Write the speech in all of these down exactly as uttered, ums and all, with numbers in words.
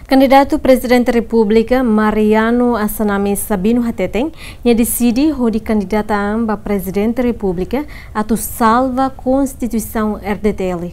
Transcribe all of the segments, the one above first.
Kandidatu Prezidente Repúblika Mariano Assanami Sabino hateten, nia deside hodi kandidata an ba Prezidente Repúblika atu salva Konstituisaun R D T L.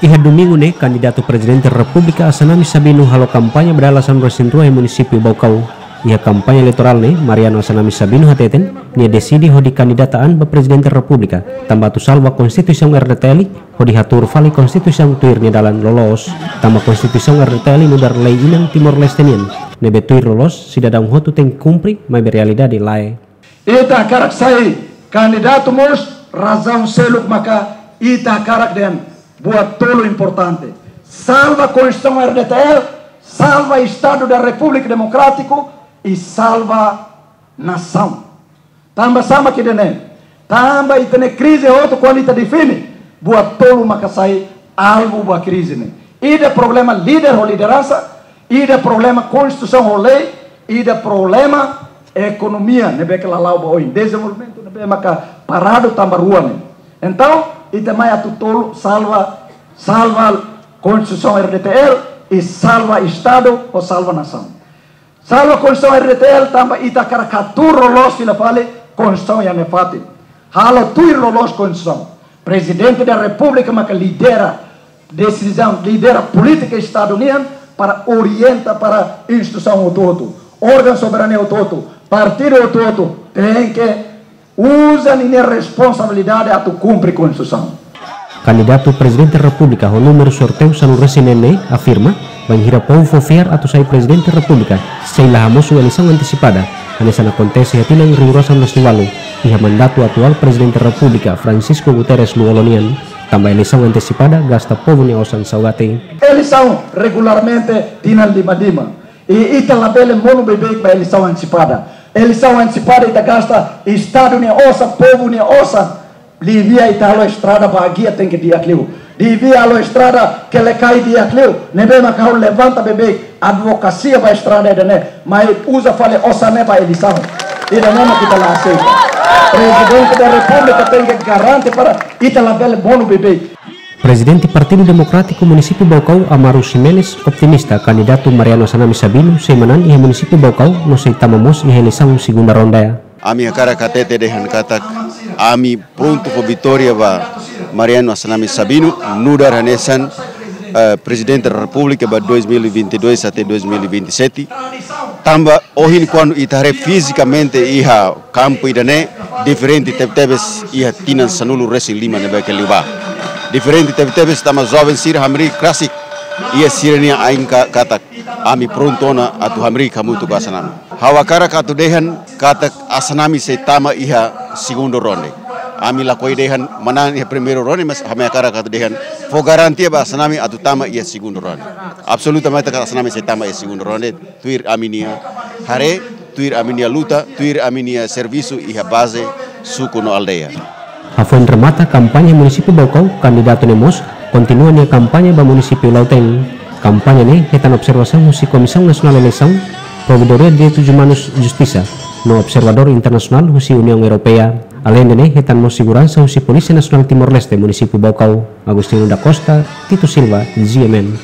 Iha domingu ne'e, kandidatu Prezidente Repúblika Assanami Sabino halo kampaña ba dala sanulu-resin-rua iha munisípiu Baucau. Iha kampaña eleitorál ne'e, Mariano Assanami Sabino hateten, nia deside hodi kandidata an ba Prezidente Repúblika, tanba atu salva Konstituisaun R D T L, hodi hatuur fali Konstituisaun tuir nia dalan loloos. Tanba Konstituisaun R D T L nu'udar lei inan Timor-Leste nian, ne'ebé tuir loloos sidadaun hotu tenke kumpre, maibé realidade lae. Ita hakarak sai kandidatu mós, razaun seluk maka ita hakarak dehan buat tolu importante. Salva Konstituisaun R D T L, salva Estadu da Repúblika Demokrátiku, i salva nasaun. Tanba sá mak ida-ne'e? Tanba ita-nia krize hotu kuandu ita define, buat tolu maka sai alvu ba krize ne'e. Ida problema líder ho lideransa, ida problema konstituisaun ho lei, ida problema ekonomia ne'ebé ke la la'o ba oin, dezenvolvimentu ne'ebé maka paradu tanba rua ne'e. Entaun, ita mai atu tolu salva, salva Konstituisaun R D T L, i salva Estadu, ou salva nasaun. Salva Konstituisaun R D T L tanba ita hakarak hatuur loloos fila fali Konstituisaun iha nia fatin. Halo tuir loloos Konstituisaun. Prezidente da Repúblika maka lidera desizaun, lidera polítika Estadu nian para orienta para instituisaun hotu-hotu, órgaun soberania hotu-hotu, partidu hotu-hotu tenke uza ninia responsabilidade atu kumpre Konstituisaun. Kandidatu Prezidente Repúblika ho númeru sorteiu sanulu-resin-neen ne'e afirma, bainhira povu fó fiar atu sai Prezidente Repúblika, sei la hamosu eleisaun antesipada, hanesan akontese iha tinan rihun rua sanulu-resin-ualu, iha mandatu atuál Prezidente Repúblika Francisco Guterres Lú-Olo nian, tanba eleisaun antesipada gasta povu nia osan saugati. Eleisaun regularmente tinan lima-lima. I ita labele monu beibeik ba eleisaun antesipada. Eleisaun antesipada ita gasta Estadu nia osan, povu nia osan. Devia ita halo estrada Baguia tenke di'ak liu. Devia halo estrada Quelicai di'ak liu. Ne'ebé maka ha'u levanta beibeik, advokasia ba estrada ida-ne'e. Mai uza fali osan ne'e ba eleisaun. Ida-ne'e mak ita la aseita. Prezidente da Repúblika tenke garante para ita labele monu beibeik. Prezidente Partidu Demokrátiku Munisípiu Baucau, Amaro Ximenes, optimista kandidatu Mariano Assanami Sabino sei manán iha Munisípiu Baucau no sei tama mós iha eleisaun segunda ronda. Ami hakarak hatete dehan katak ami prontu fó vitória ba Mariano Assanami Sabino, nu'udar hanesan, eh, Prezidente da Repúblika ba dois mil e vinte e dois até dois mil e vinte e sete. Tanba ohin kuandu ita haree fizikamente iha kampu ida-ne'e, diferente tebetebes iha tinan sanulu-resin-lima ne'ebé ke liubá. Diferente tebetebes tanba joven sira hamriik rasik iha sira-nia ain ka-, katak ami prontu ona atu hamriik hamutuk ho Assanami. Ha'u hakarak atu dehan katak Assanami sei tama iha segundu ronde. Ami lakohi dehan manán iha primeiru ronde, mas ami hakarak atu dehan fó garantia ba Assanami atu tama iha segundu ronde. Absolutamente katak Assanami sei tama iha segundu ronde. Tuir ami-nia haree, tuir ami-nia luta, tuir ami-nia servisu iha baze, suku no aldeia. Hafoin remata kampaña Munisípiu Baucau, kandidatu ne'e mós kontinua nia kampaña ba Munisípiu Lautém. Kampaña ne'e hetan observasaun husi Komisaun Nasionál Eleisaun, Provedoria Direitus Umanus Justisa, no observadór internasionál husi Uniaun Europeia. Aleinde ne'e, hetan mós seguransa husi Polísia Nasionál Timor-Leste Munisípiu Baucau. Agostinho da Costa, Tito Silva, G M N.